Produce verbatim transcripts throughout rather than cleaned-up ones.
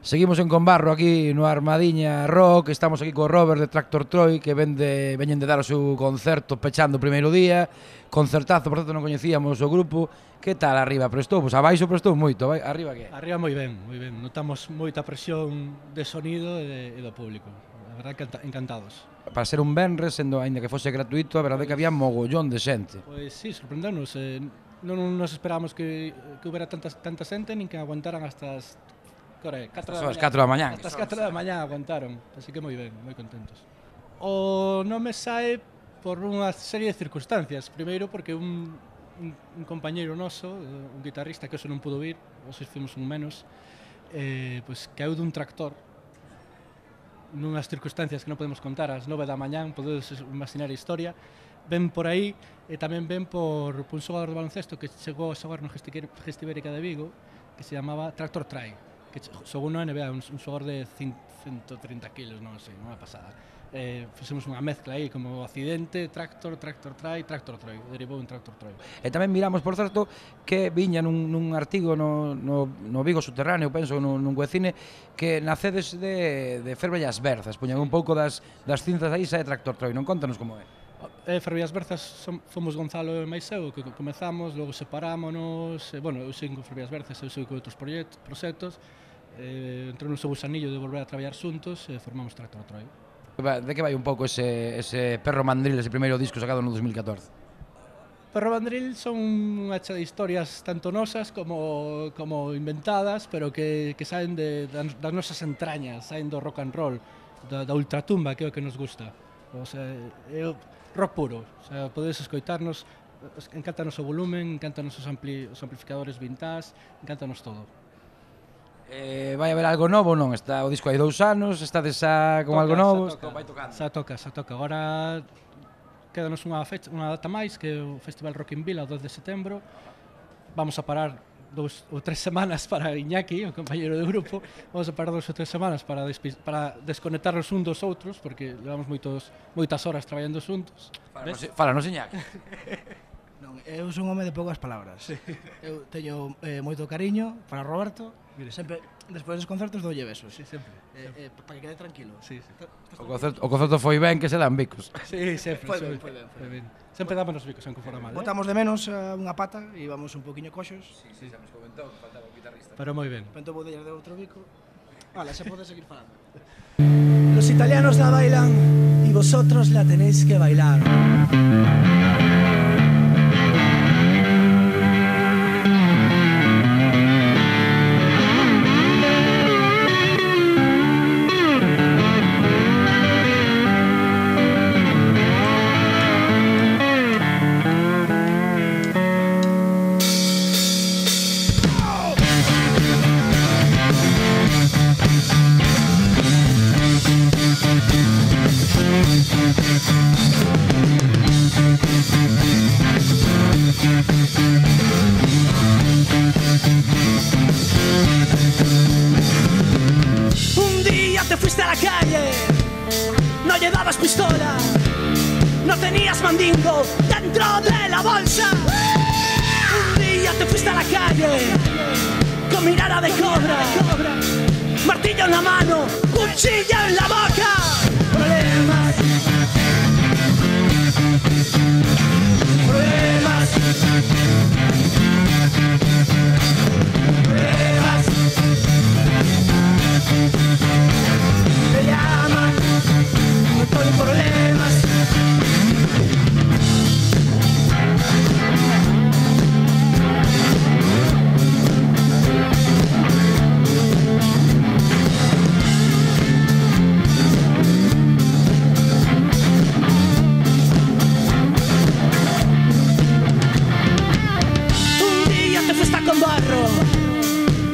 Seguimos en Conbarro aquí no Armadiña Rock. Estamos aquí co Robert de Tractor Troy, que vende, veñen de dar o seu concerto pechando o primeiro día. Concertazo, por certo non coñecíamos o grupo. Que tal arriba? Prestou? Pois abaixo prestou moito. Arriba que? Arriba moi ben, moi ben. Notamos moita presión de sonido e, de, e do público. A verdade, encantados. Para ser un venres, sendo aínda que fose gratuito, a verdade é que había mogollón de xente. Pois sí, sorprendernos. Eh, non nos esperábamos que, que houbera tanta, tanta xente, nin que aguantaran hasta as catro da mañá. Hasta as catro da mañá aguantaron, así que moi ben, moi contentos. O nome sae por unha serie de circunstancias. Primeiro porque un, un, un compañeiro noso, un guitarrista que eso non pudo vir, hoxe fomos un menos, eh, pois caeu dun tractor nunhas circunstancias que non podemos contar, ás nove da mañá, podedes imaginar a historia. Ven por aí e tamén ven por, por un xogador de baloncesto que chegou a xogar no Gestibérica de Vigo, que se chamaba Tractor Try, que xogou no N B A, un, un xogador de ciento trinta kilos, non sei, unha pasada. Eh, fixemos unha mezcla aí, como accidente, tractor, tractor try, tractor troy, derivou un tractor troy. E tamén miramos, por certo, que viña nun, nun artigo no, no, no Vigo Subterráneo, penso, nun, nun webcine, que nacedes de, de Ferbellas Berzas, puñan un pouco das, das cinzas aí, sae Tractor Troy, non? Contanos como é. Eh, Ferbellas Berzas som, fomos Gonzalo e máis eu, que comezamos, logo separámonos, eh, bueno, eu sigo con Ferbellas Berzas, eu sigo con outros proxectos, eh, entrou no seu gusanillo de volver a traballar xuntos e formamos Tractor Troy. De que vai un pouco ese, ese Perro Mandril, ese primeiro disco sacado no dos mil catorce? Perro Mandril son unha cha de historias tanto nosas como, como inventadas, pero que, que saen de, das nosas entrañas, saen do rock and roll, da, da ultratumba, que é o que nos gusta. O sea, é rock puro, o sea, podedes escoitarnos, encántanos o volumen, encántanos os, ampli, os amplificadores vintage, encántanos todo. Eh, vai haber algo novo, non? Está o disco hai dous anos, está desa con toca, algo novo, toca, vai tocando. Xa toca, xa toca. Agora quédanos unha fecha, unha data máis, que é o Festival Rock in Vila, o doce de setembro. Vamos a parar dous ou tres semanas para Iñaki, o compañeiro do grupo. Vamos a parar dous ou tres semanas para, para desconectarnos un dos outros, porque levamos moitos, moitas horas traballando xuntos. Fálanos, Iñaki. Non, eu son un home de poucas palabras. Sí. Eu teño eh, moito cariño para Roberto. Mire, sempre, despois dos concertos doulle besos. Sí, sempre. Eh, eh, para que quede tranquilo. Sí, sí. O concerto, o concerto foi ben, que se dan bicos. Sí, sempre. Foi ben, foi ben, foi ben. Sempre dámonos bicos, aunque fora mal. Botamos de menos uh, unha pata e íbamos un poquinho coxos. Sí, sí, xa nos comentou que faltaba un guitarrista. Pero moi ben. Pento vou de outro bico. Vale, xa podes seguir falando. Los italianos la bailan y vosotros la tenéis que bailar. Un día te fuiste a la calle, no llevabas pistola, no tenías mandingo dentro de la bolsa. Un día te fuiste a la calle con mirada de cobra, martillo en la mano, cuchillo en la boca. Problemas, problemas, problemas. Me llaman, no estoy en problemas.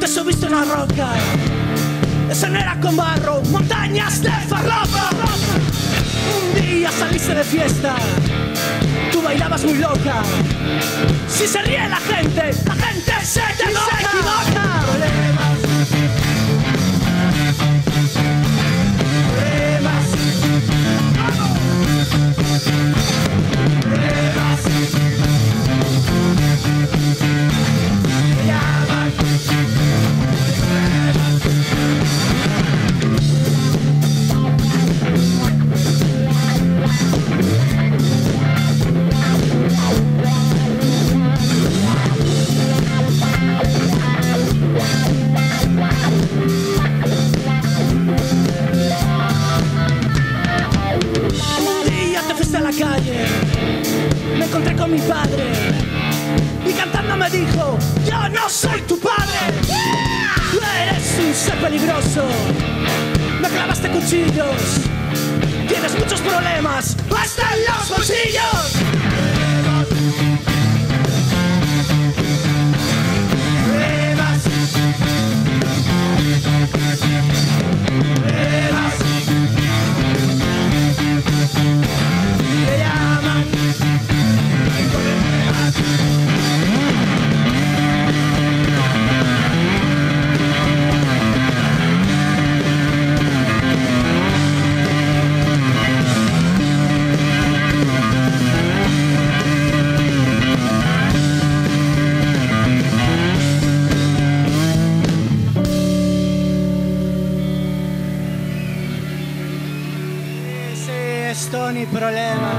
Subiste una roca, eso no era con barro, montañas de farlopa. Un día saliste de fiesta, tú bailabas muy loca. Si se ríe la gente, la gente se te equivoca. Problemas, problemas, problemas. Me llaman. sé peligroso. Me clavaste cuchillos. Tienes muchos problemas, hasta en los bolsillos. Pruebas. Pruebas. Te llaman. Esto ni problema.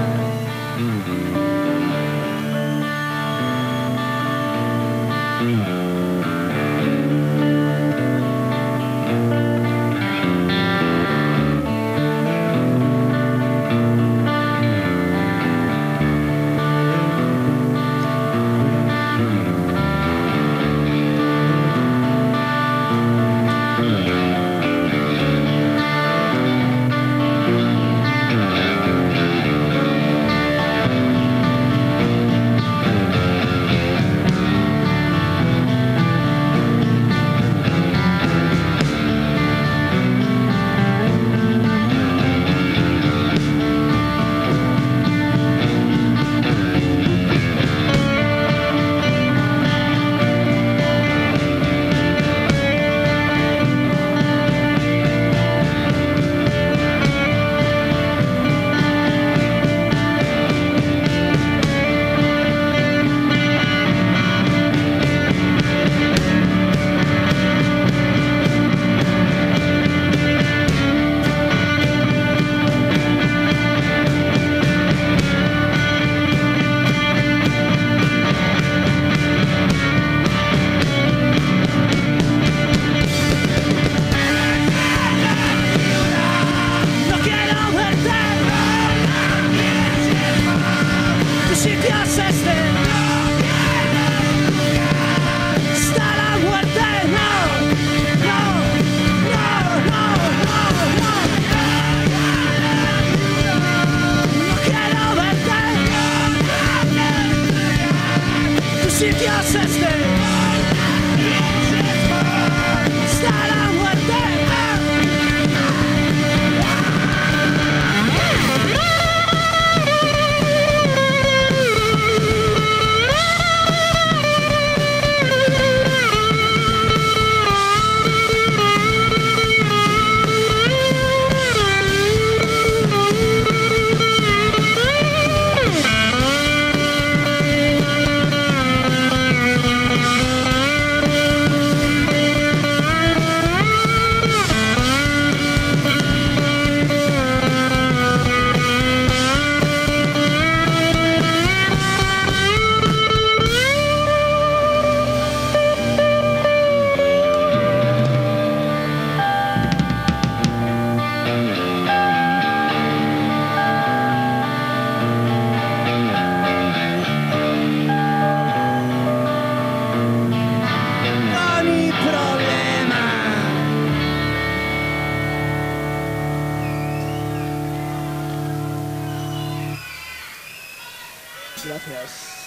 Gracias.